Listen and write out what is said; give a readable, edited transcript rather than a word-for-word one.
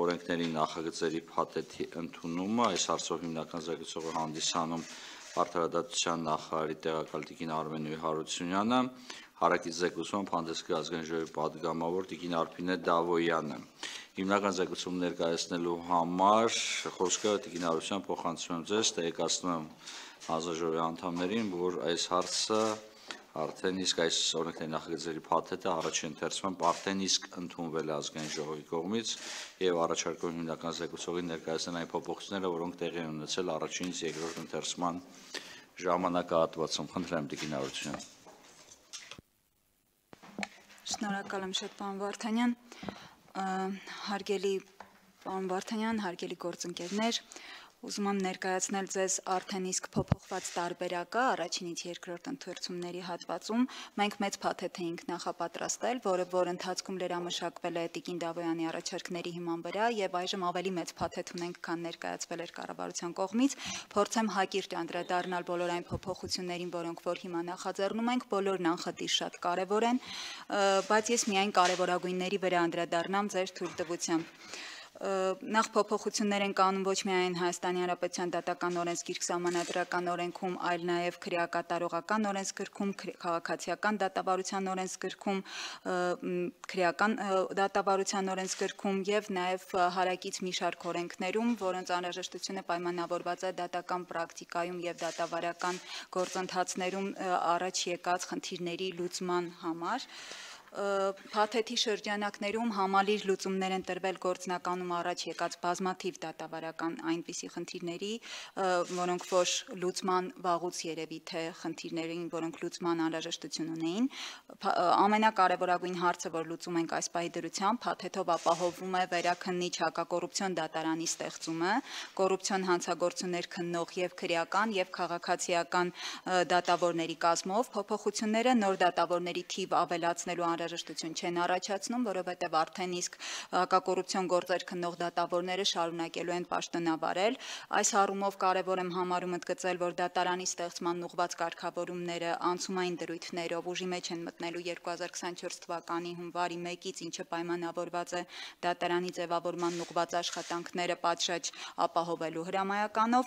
օրենքների նախագծերի փաթեթի ընդունումը, այս հարցով հիմնական զեկուցողը հանդիսանում Արդարադատության նախարարի տեղակալ տիկին Արմենուհի Հարությունյանը, հարակից զեկուցում հանդես գա ազգային ժողովի պատգամավոր տիկին Արփինե Դավոյանը։ Հիմնական զեկուցում ներկայացնելու համար խոսքը տիկին Հարությունյան փոխանցում եմ ձեզ, տեղեկացնում եմ հանձնաժողովի անդամներին, որ այս հարցը արդեն իսկ այս օրենքների նախագծերի փաթեթը առաջին ընթերցման արդեն իսկ ընդունվել է ազգային ժողովի կողմից եւ առաջարկում հիմնական զեկուցողին ներկայացնել այն փոփոխությունները, որոնք տեղի են ունեցել առաջինից երկրորդ ընթերցման ժամանակահատվածում։ Խնդրեմ տիկին Հարությունյան։ Շնորհակալ եմ շատ պարոն Վարդանյան, հարգելի պարոն Վարդանյան, հարգելի գործընկերներ, ուզում եմ ներկայացնել ձեզ արդեն իսկ փոփոխված տարբերակը առաջինից երկրորդ ընթերցումների հատվածում։ Մենք մեծ փաթեթ էինք նախապատրաստել, որ ընթացքում լրամշակվել է տիկին Դավոյանի առաջարկների հիման վրա եւ այժմ ավելի մեծ փաթեթ ունենք, քան ներկայացվել էր կառավարության կողմից։ Փորձեմ հակիրճ անդրադառնալ բոլոր այն փոփոխություններին, որոնք որ հիմա նախաձեռնում ենք, բոլորն անխտիր շատ կարեւոր են, բայց ես միայն կարևորագույնների վրա անդրադառնամ ձեր թույլտվությամբ։ Նախ փոփոխություններ են կանում ոչ միայն Հայաստանի Հանրապետության դատական օրենսգիրք սահմանադրական օրենքում, այլ նաև քրեակատարողական օրենսգրքում, քաղաքացիական դատավարության օրենսգրքում, քրեական դատավարության օրենսգրքում եւ նաև հարակից մի շարք օրենքներում, որոնց անհրաժեշտությունը պայմանավորված է դատական պրակտիկայում եւ դատավարական գործընթացներում առաջ եկած խնդիրների լուծման համար։ Փաթեթի շրջանակներում համալիր լուծումներ են տրվել գործնականում առաջ եկած բազմաթիվ դատավարական այնպիսի խնդիրների, որոնք որ լուծման վաղուց երևի թե խնդիրներին, որոնք լուծման անհրաժեշտություն ունեին։ Ամենակարևորագույն հարցը, որ լուծում ենք այս պահի դրությամբ, փաթեթով ապահովվում է վերաքննիչ հակակոռուպցիոն դատարանի ստեղծումը, կոռուպցիոն հանցագործություններ քննող եւ քրեական եւ քաղաքացիական դատավորների կազմով։ Փոփոխությունները նոր դատավորների թիվ ավելացնելու անհրաժեշտություն չեն առաջացնում, որովհետև արդեն իսկ հակակոռուպցիոն գործեր քննող դատավորները շարունակելու են պաշտոնավարել։ Այս առումով կարևոր եմ համարում ընդգծել, որ դատարանի ստեղծման ուղղված կարգավորումները անցումային դրույթներով ուժի մեջ են մտնելու 2024 թվականի հունվարի 1-ից, ինչը պայմանավորված է դատարանի ձևավորման ուղղված աշխատանքները պատշաճ ապահովելու հրամայականով։